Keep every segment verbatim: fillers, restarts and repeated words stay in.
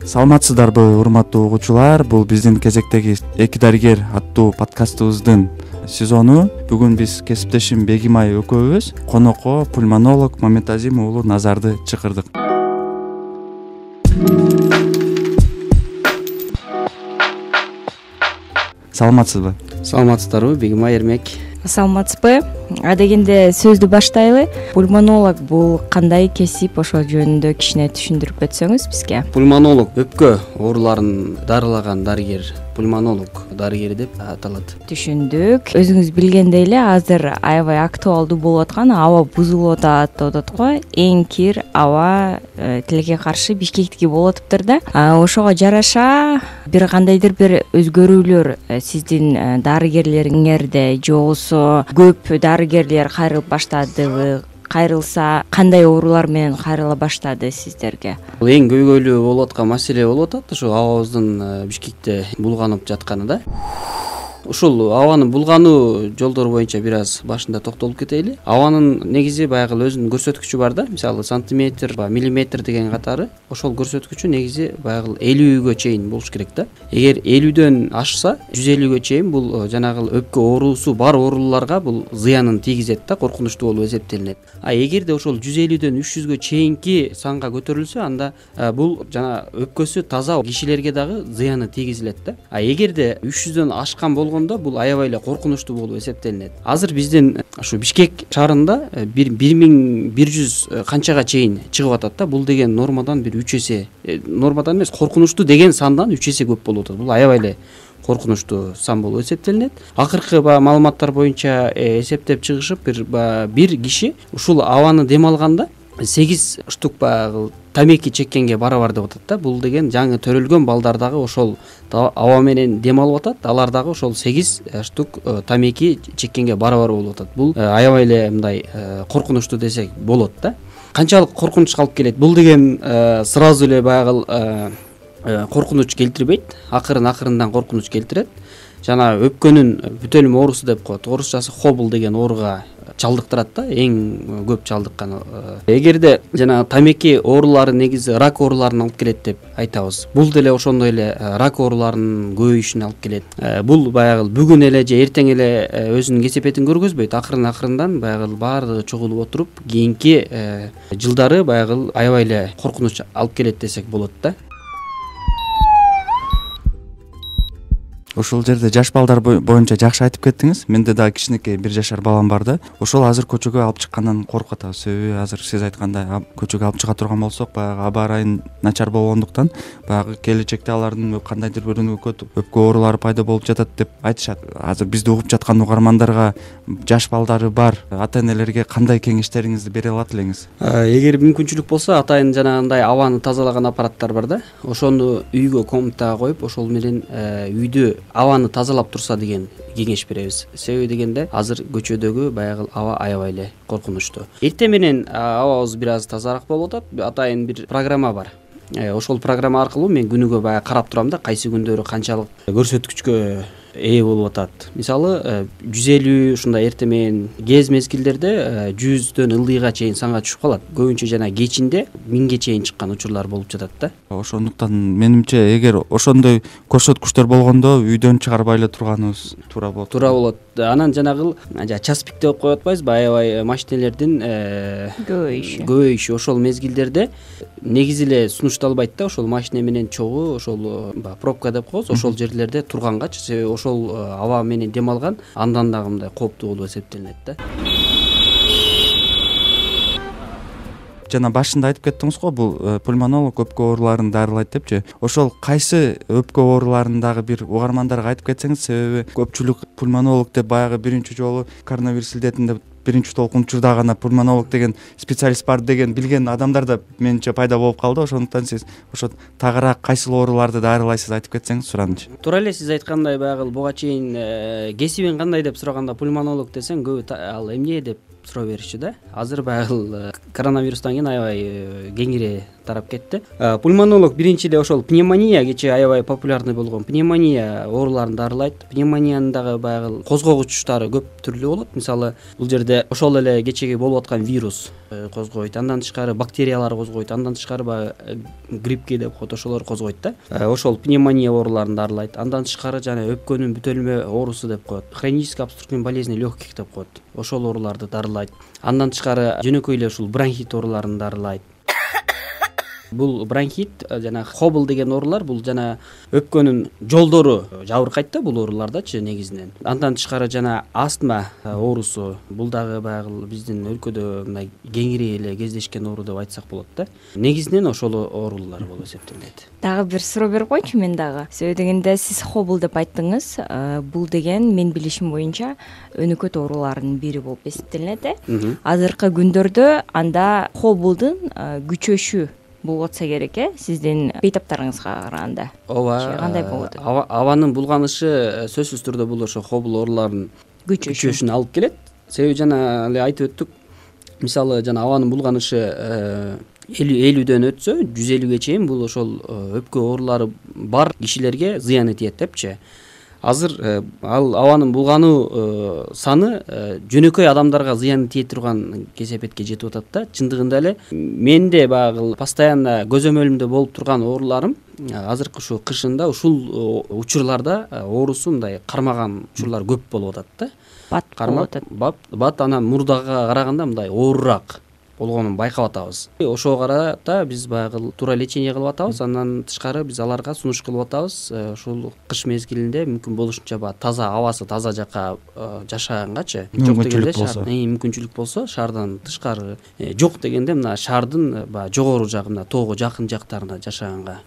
Саламатсыздарбы урматтуу угуучулар, бул биздин кезектеги эки дарыгер аттуу подкастыбыздын сезону. Бүгүн биз кесиптешим Бегимай экөөбүз конокко пульмонолог Мамедазим уулу Назарды чакырдык. Саламатсызбы? Саламатсыздарбы, Бегимай Эрмек? Саламатсызбы? Адегенде сөздү баштайлы. Пульмонолог бул кандай кесип, ошол жөнүндө кичине түшүндүрүп өтсөңүз бизге. Пульмонолог өпкө ооруларын дарылаган дарыгер, пульмонолог дарыгери деп аталат. Түшүндүк. Өзүңүз билгендей эле азыр аябай актуалдуу болуп аткан аба бузулуп атат деп атат го. Эң кир аба тилекке каршы Бишкектики болуп атыптыр да. Ошого жараша бир кандайдыр бир өзгөрүүлөр сиздин дарыгерлериңерде же болбосо көп дарыгерлер кайрылып баштадыбы? Кайрылса кандай оорулар менен кайрыла баштады сиздерге? Эң көйгөйлүү болуп аткан маселе болуп атат ушул абабыздын Бишкекте булганып жатканы да. Ушул абанын булгануу жолдору боюнча бир аз башында токтолуп кетели. Абанын негизи баягы өзүнүн көрсөткүчү бар да. Мисалы сантиметр, миллиметр деген катары. Ошол көрсөткүчү негизи баягы элүүгө чейин болуш керек да. Эгер элүүдөн ашса, жүз элүүгө чейин бул жанагы өпкө оорусу бар ооруларга бул зыянын тийгизет да, коркунучтуу болуп эсептелинет. А эгерде ошол жүз элүүдөн үч жүзгө чейинки санга көтөрүлсө, анда бул жана өпкөсү таза кишилерге дагы зыяны тийгизилет да. А эгерде үч жүздөн ашкан болгондо бул аябай эле коркунучтуу болуп эсептелинет. Азыр биздин ушу Бишкек шаарында бир миң бир жүз канчага чейин чыгып атат да. Бул деген нормадан бир үч эсе, нормадан эмес, коркунучтуу деген сандан үч эсе көп болуп атат. Бул аябай эле коркунучтуу сан болуп эсептелинет. Акыркы маалыматтар боюнча эсептеп чыгышып, бир бир киши ушул абаны дем алганда сегиз штук баягы тамеки чеккенге барабар деп атат да. Бул деген жаңы төрөлгөн балдар дагы ошол аба менен дем алып атат, алар дагы ошол сегиз штук тамеки чеккенге барабар болуп атат. Бул аябай эле мындай коркунучтуу десек болот да. Канчалык коркунучка алып келет? Бул деген сразу эле баягы коркунуч келтирбейт, акырын акырындан коркунуч келтирет. Жана өпкөнүн бүтөлүм оорусу деп коет. Орусчасы хобл деген ооруга чалдыктырат да, эң көп чалдыккан. Эгерде жана тамеки оорулары негизи рак ооруларын алып келет деп айтабыз. Бул деле ошондой эле рак ооруларынын көбөйүшүнө алып келет. Бул баягы бүгүн эле же эртең эле өзүнүн кесепетин көргөзбөйт. Акырын акырындан баягы баардыгы чогулуп отуруп, кийинки жылдары баягы аябай эле коркунуч алып келет десек болот да. Ошол жерде жаш балдар боюнча жакшы айтып кеттиңиз. Менде дагы кичинекей бир жашар балам бар да. Ошол азыр көчөгө алып чыккандан коркуп атабыз. Себеби азыр сиз айткандай көчөгө алып чыга турган болсок, баягы аба ырайын начар болгондуктан баягы келечекте алардын кандайдыр бир өпкө оорулары пайда болуп жатат деп айтышат. Азыр бизди угуп жаткан угармандарга, жаш балдары бар ата-энелерге кандай кеңештериңизди бере алат элеңиз? Эгер мүмкүнчүлүк болсо, атайын жанагындай абаны тазалаган аппараттар бар да. Ошону үйгө комнатага коюп, ошол менен үйдү абаны тазалап турса деген кеңеш беребиз. Себеби дегенде азыр көчөдөгү баягы аба аябай эле коркунучтуу. Эртең менен абабыз бир аз тазараак болуп атат. Атайын бир программа бар. Ошол программа аркылуу мен күнүгө баягы карап турам да, кайсы күндөрү канчалык көрсөткүчкө ээ болуп атат. Мисалы жүз элүү ушундай эртең менен кез мезгилдерде жүздөн ылдыйга чейин санга түшүп калат. Көбүнчө жана кечинде миңге чейин чыккан учурлар болуп жатат да. Ошондуктан менимче эгер ошондой көрсөткүчтөр болгондо үйдөн чыгарбай эле турганыбыз туура болот. Туура болот. Анан жанагы час пик деп коюп атпайбызбы, аябай машинелердин көбөйүшү. Көбөйүшү ошол мезгилдерде негизи эле сунушталбайт да. Ошол машина менен чогуу, ошол пробка деп коебуз, ошол жерлерде тургангач, себеби ошол аба менен дем алган андан дагы мындай кооптуу болуп эсептелинет да. Жана башында айтып кеттиңиз го, бул пульмонолог өпкө ооруларын дарылайт депчи. Ошол кайсы өпкө ооруларын дагы бир угармандарга айтып кетсеңиз, себеби көпчүлүк пульмонолог деп баягы биринчи жолу коронавирус илдетинде биринчи толкун учурда гана пульмонолог деген специалист бар деген билген адамдар да менимче пайда болуп калды. Ошондуктан сиз ошо тагыраак кайсыл ооруларды дарылайсыз айтып кетсеңиз суранычы. Туура эле сиз айткандай баягы буга чейин кесибиң кандай деп сураганда пульмонолог десең көбү ал эмне деп суроо беришчү да. Азыр баягы коронавирустан кийин аябай кеңири тарап кетти. Пульмонолог биринчи эле ошол пневмония кечээ аябай популярный болгон пневмония ооруларын дарылайт. Пневмониянын дагы баягы козгогучтары көп түрлүү болот. Мисалы, бул жерде ошол эле кечеги болуп аткан вирус козгойт, андан тышкары бактериялар козгойт, андан тышкары баягы гриппке деп коет, ошолор козгойт да. Ошол пневмония ооруларын дарылайт. Андан тышкары жана өпкөнүн бүтөлмө оорусу деп коет, хронический обструктивный болезни легких деп коет, ошол ооруларды дарылайт. Андан тышкары жөнөкөй эле ушул бронхит ооруларын дарылайт. Бул бронхит жана хобл деген оорулар, бул жана өпкөнүн жолдору жабыркайт да бул оорулардачы негизинен. Андан тышкары жана астма оорусу, бул дагы баягы биздин өлкөдө мындай кеңири эле кездешкен оору деп айтсак болот да. Негизинен ошол оорулар болуп эсептелет. Дагы бир суроо берип койчу мен дагы. Себеби дегенде сиз хобл деп айттыңыз. Бул деген мен билишим боюнча өнөкөт оорулардын бири болуп эсептелинет э. Азыркы күндөрдө анда хоблдун күчөшү болуп атса керек э, сиздин бейтаптарыңызга караганда. Ооба. Кандай болот? Абанын булганышы сөзсүз түрдө бул ошо хобл ооруларынын күчөшүнө алып келет. Себеби жана эле айтып өттүк. Мисалы жана абанын булганышы элүүдөн өтсө, жүз элүүгө чейин бул ошол өпкө оорулары бар кишилерге зыяны тиет депчи. Азыр ал абанын булгануу саны жөнөкөй адамдарга зыян тие турган кесепетке жетип атат да. Чындыгында эле менде баягы постоянно көзөмөлүмдө болуп турган ооруларым азыркы ушу кышында ушул учурларда оорусу мындай кармаган учурлар көп болуп атат да. Бат болуп атат. Бат анан мурдага караганда мындай оорураак болгонун байкап атабыз. Ошого карата биз баягы туура лечение кылып атабыз. Андан тышкары биз аларга сунуш кылып атабыз. Ушул кыш мезгилинде мүмкүн болушунча баягы таза абасы таза жакка жашагангачы. Жок дегенде мүмкүнчүлүк болсо шаардан тышкары, жок дегенде мына шаардын баягы жогору жагы, мына тоого жакын жактарында жашаганга.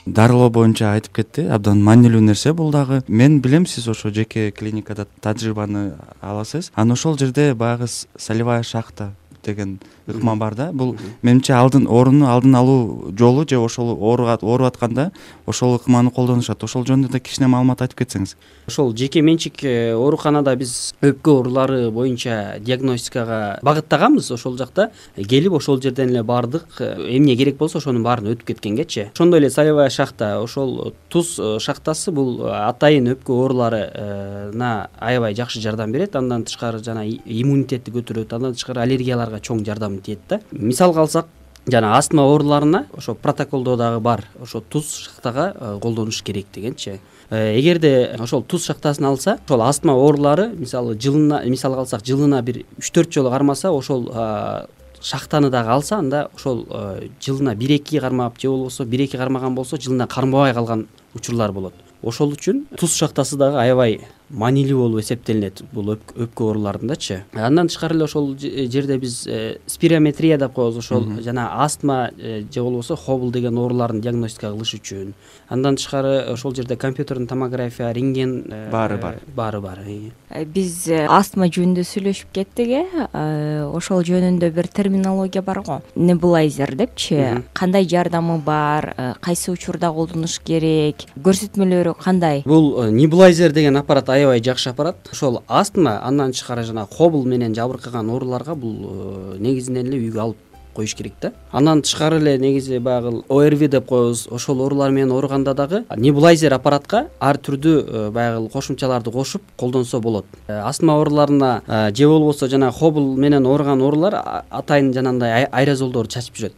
Дарылоо боюнча айтып кетти, абдан маанилүү нерсе бул дагы. Мен билем, сиз ошо жеке клиникада тажрыйбаны аласыз. Анан ошол жерде баягы солевая шахта деген ыкма бар да. Бул менимче алдын орунну алдын алуу жолу же ошол ооруга ооруп атканда ошол ыкманы колдонушат. Ошол жөнүндө да кичине маалымат айтып кетсеңиз. Ошол жеке менчик ооруканада биз өпкө оорулары боюнча диагностикага багыттаганбыз. Ошол жакта келип ошол жерден эле бардык, эмне керек болсо ошонун баарын өтүп кеткенгечи. Ошондой эле солевая шахта, ошол туз шахтасы бул атайын өпкө ооруларына аябай жакшы жардам берет. Андан тышкары жана иммунитетти көтөрөт, андан тышкары аллергияларга чоң жардам тиет да. Мисалга алсак, жана астма ооруларына ошо протоколдо дагы бар, ошо туз шахтага колдонуш керек дегенчи. Эгерде ошол туз шахтасын алса, ошол астма оорулары мисалы жылына, мисалга алсак, жылына бир үч төрт жолу кармаса, ошол шахтаны дагы алса, анда ошол жылына бир эки кармап, же болбосо бир эки кармаган болсо, жылына кармабай калган учурлар болот. Ошол үчүн туз шахтасы дагы аябай маанилүү болуп эсептелинет бул өпкө ооруларындачы. Андан тышкары эле ошол жерде биз спирометрия деп коебуз, ошол жана астма же болбосо хобл деген оорулардын диагностика кылыш үчүн. Андан тышкары ошол жерде компьютердин томография, рентген баары бар. Баары бар. Биз астма жөнүндө сүйлөшүп кеттик э. Ошол жөнүндө бир терминология бар го. Небулайзер депчи. Кандай жардамы бар, кайсы учурда колдонуш керек, көрсөтмөлөрү кандай? Бул небулайзер деген аппарат аябай жакшы аппарат. Ошол астма, андан тышкары жана хобл менен жабыркаган ооруларга бул негизинен эле үйгө алып коюш керек да. Андан тышкары эле негизи баягы о эр ви деп коебуз, ошол оорулар менен ооруганда дагы небулайзер аппаратка ар түрдүү баягы кошумчаларды кошуп колдонсо болот. Астма ооруларына же болбосо жана хобл менен ооруган оорулар атайын жанагындай аэрозолдорду чачып жүрөт.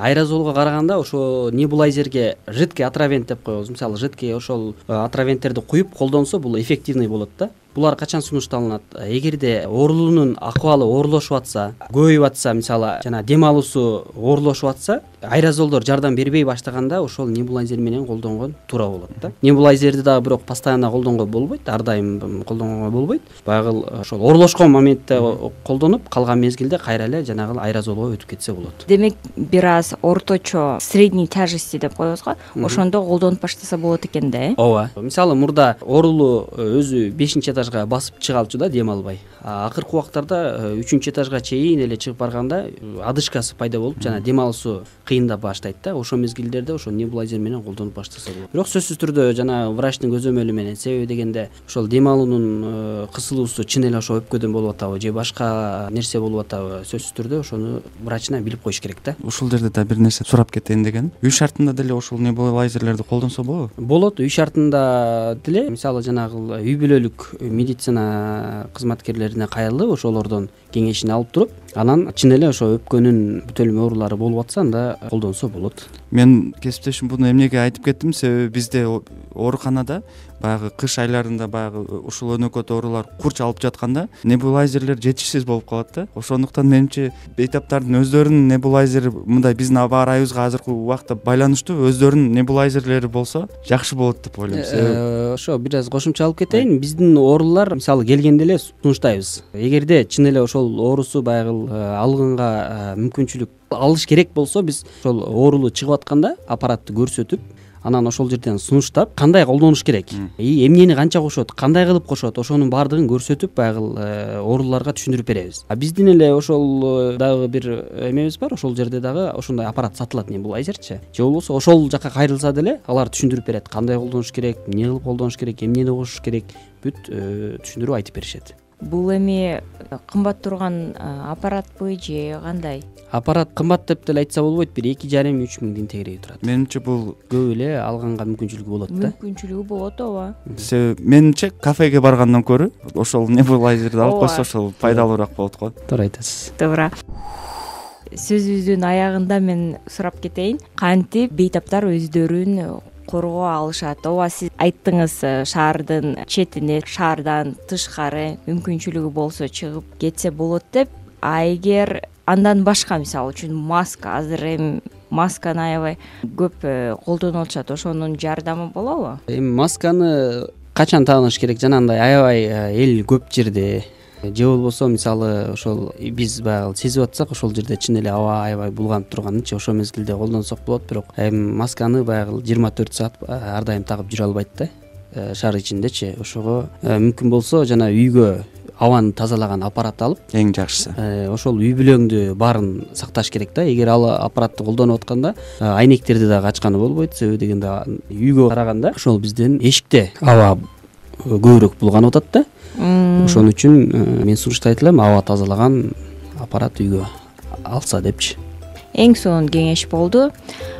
Аэрозолго караганда ошо небулайзерге жидкий отравент деп коебуз. Мисалы, жидкий ошол отравенттерди куюп колдонсо бул эффективный болот да. Булар качан сунушталынат? Эгерде оорулуунун акыбалы оорлошуп атса, көбөйүп атса, мисалы, жана дем алуусу оорлошуп атса, аэрозолдор жардам бербей баштаганда ошол небулайзер менен колдонгон туура болот да. Небулайзерди дагы бирок постоянно колдонгонго болбойт, ар дайым колдонгонго болбойт. Баягы ошол оорлошкон моментте колдонуп, калган мезгилде кайра эле жанагы аэрозолго өтүп кетсе болот. Демек, бир аз орточо средний тяжести деп коебуз го, ошондо колдонуп баштаса болот экен да, э? Ооба. Мисалы, мурда оорулуу өзү бешинчи этажга басып чыга алчу да, дем албай. Акыркы убактарда үчүнчү этажга чейин эле чыгып барганда одышкасы пайда болуп, жана дем алуусу кыйындап баштайт да. Ошол мезгилдерде ошо небулайзер менен колдонуп баштаса болот. Бирок сөзсүз түрдө жана врачтын көзөмөлү менен, себеби дегенде ошол дем алуунун кысылуусу чын эле ошо өпкөдөн болуп атабы же башка нерсе болуп атабы, сөзсүз түрдө ошону врачына билип коюш керек да. Ушул жерде да бир нерсе сурап кетейин деген. Үй шартында деле ошол небулайзерлерди колдонсо болобу? Болот, үй шартында деле. Мисалы, жанагы үй бүлөлүк медицина кызматкерлерине кайрылып ошолордон кеңешин алып туруп анан чын эле ошо өпкөнүн бүтөлмө оорулары болуп атса анда колдонсо болот. Мен кесиптешим буну эмнеге айтып кеттим, себеби бизде ооруканада баягы кыш айларында баягы ушул өнөкөт оорулар курч алып жатканда небулайзерлер жетишсиз болуп калат да. Ошондуктан менимче бейтаптардын өздөрүнүн небулайзери мындай биздин аба ырайыбызга азыркы убакта байланыштуу өздөрүнүн небулайзерлери болсо жакшы болот деп ойлойм. Себеби ошо бир аз кошумча алып кетейин. Биздин оорулар мисалы келгенде эле сунуштайбыз. Эгерде чын эле ошол оорусу баягы алгынга мүмкүнчүлүк алыш керек болсо биз ошол оорулуу чыгып атканда аппаратты көрсөтүп анан ошол жерден сунуштап кандай колдонуш керек и эмнени канча кошот, кандай кылып кошот, ошонун баардыгын көрсөтүп баягы ооруларга түшүндүрүп беребиз. А биздин эле ошол дагы бир эмебиз бар, ошол жерде дагы ошондой аппарат сатылат, небулайзерчи. Же болбосо ошол жака кайрылса деле алар түшүндүрүп берет, кандай колдонуш керек, эмне кылып колдонуш керек, эмнени кошуш керек, бүт түшүндүрүп айтып беришет. Бул эми кымбат турган аппаратпы же кандай? Аппарат кымбат деп деле айтса болбойт, бир эки жарым үч миңдин тегереги турат. Менимче бул көп эле алганга мүмкүнчүлүгү болот да. Мүмкүнчүлүгү болот, ооба. Себеби менимче кафеге баргандан көрө ошол небулайзерди алып койсо ошол пайдалуураак болот го. Туура айтасыз. Туура. Сөзүбүздүн аягында мен сурап кетейин, кантип бейтаптар өздөрүн коргоо алышат? Ооба, сиз айттыңыз, шаардын четине, шаардан тышкары мүмкүнчүлүгү болсо чыгып кетсе болот деп. А эгер андан башка, мисалы үчүн маска, азыр эми масканы аябай көп колдонуп атышат, ошонун жардамы болобу? Эми масканы качан тааныш керек? Жанагындай аябай эл көп жерде же болбосо мисалы ошол биз баягы сезип атсак ошол жерде чын эле аба аябай булганып турганынчы ошол мезгилде колдонсок болот. Бирок эми масканы баягы жыйырма төрт саат ар дайым тагып жүрө албайт да шаар ичиндечи. Ошого мүмкүн болсо жана үйгө абаны тазалаган аппарат алып, эң жакшысы ошол үй бүлөңдү баарын сакташ керек да. Эгер ал аппаратты колдонуп атканда айнектерди дагы ачканы болбойт, себеби дегенде үйгө караганда ошол бизден эшикте аба көбүрөөк булганып атат да. Ошон үчүн мен сунуштайт элем аба тазалаган аппарат үйгө алса депчи. Эң сонун кеңеш болду.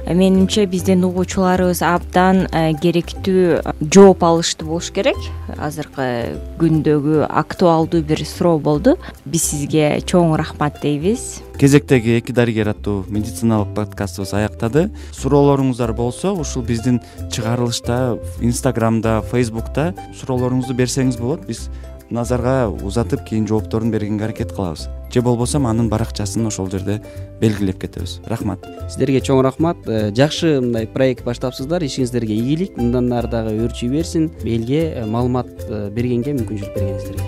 Менимче биздин угуучуларыбыз абдан керектүү жооп алыштуу болуш керек. Азыркы күндөгү актуалдуу бир суроо болду. Биз сизге чоң рахмат дейбиз. Кезектеги эки дарыгер аттуу медициналык подкастыбыз аяктады. Суроолоруңуздар болсо ушул биздин чыгарылышта Инстаграмда, Фейсбукта суроолоруңузду берсеңиз болот. Биз назарга узатып кийин жоопторун бергенге аракет кылабыз. Же болбосо анын баракчасын ошол жерде белгилеп кетебиз. Рахмат. Сиздерге чоң рахмат. Жакшы мындай проект баштапсыздар. Ишиңиздерге ийгилик, мындан ары дагы өрчүй берсин. Элге маалымат бергенге мүмкүнчүлүк бергениңиздерге.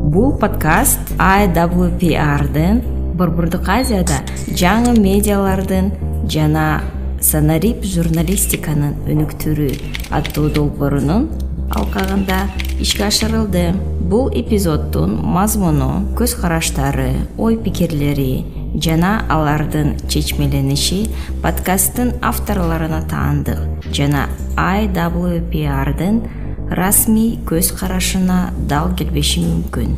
Бул подкаст ай дабл ю пи ар-дын Борбордук Азияда жаңы медиалардын жана санарип журналистиканын өнүктүрүү аттуу долбоорунун алкагында ишке ашырылды. Бул эпизоддун мазмуну, көз караштары, ой пикирлери жана алардын чечмелениши подкасттын авторлоруна таандык жана ай дабл ю пи ар-дын расмий көз карашына дал келбеши мүмкүн.